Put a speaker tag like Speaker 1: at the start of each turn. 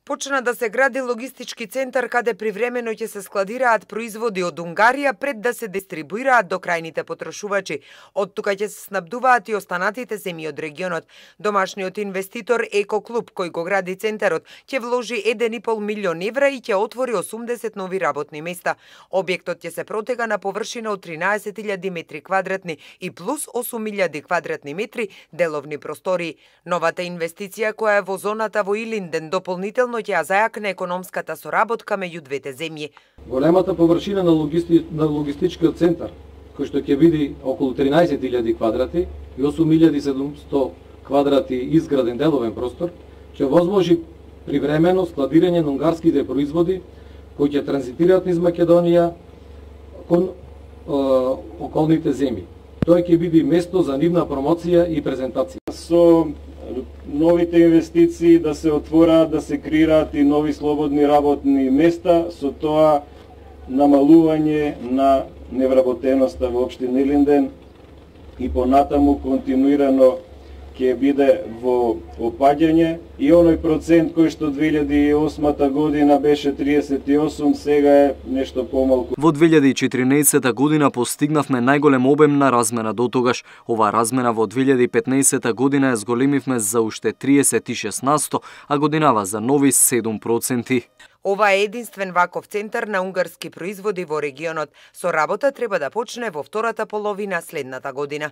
Speaker 1: Почна да се гради логистички центар каде привремено ќе се складираат производи од Унгарија пред да се дистрибуираат до крајните потрошувачи. Од тука ќе се снабдуваат и останатите земји од регионот. Домашниот инвеститор Екоклуб, кој го гради центарот, ќе вложи 1,5 милион евра и ќе отвори 80 нови работни места. Објектот ќе се протега на површина од 13.000 метри квадратни и плюс 8.000 квадратни метри деловни простории. Новата инвестиција која е во зоната во Илинден дополнително ќе ја зајакне економската соработка меѓу двете земји.
Speaker 2: Големата површина на логистичкиот центар, кој што ќе биде околу 13.000 квадрати и 8.700 квадрати изграден деловен простор, ќе возможи привремено складирање на унгарските производи кои ќе транзитираат низ Македонија кон околните земји. Тој ќе биде место за нивна промоција и презентација.
Speaker 3: Со новите инвестиции да се отвораат, да се креираат и нови слободни работни места, со тоа намалување на невработеноста во општина Илинден и понатаму континуирано ќе биде во опаѓање и оној процент кој што 2008 година беше 38, сега е нешто помалку.
Speaker 4: Во 2014 година постигнавме најголем обем на размена дотогаш. Оваа размена во 2015 година ја зголемивме за уште 36%, а годинава за нови 7%.
Speaker 1: Ова е единствен ваков центар на унгарски производи во регионот. Со работа треба да почне во втората половина следната година.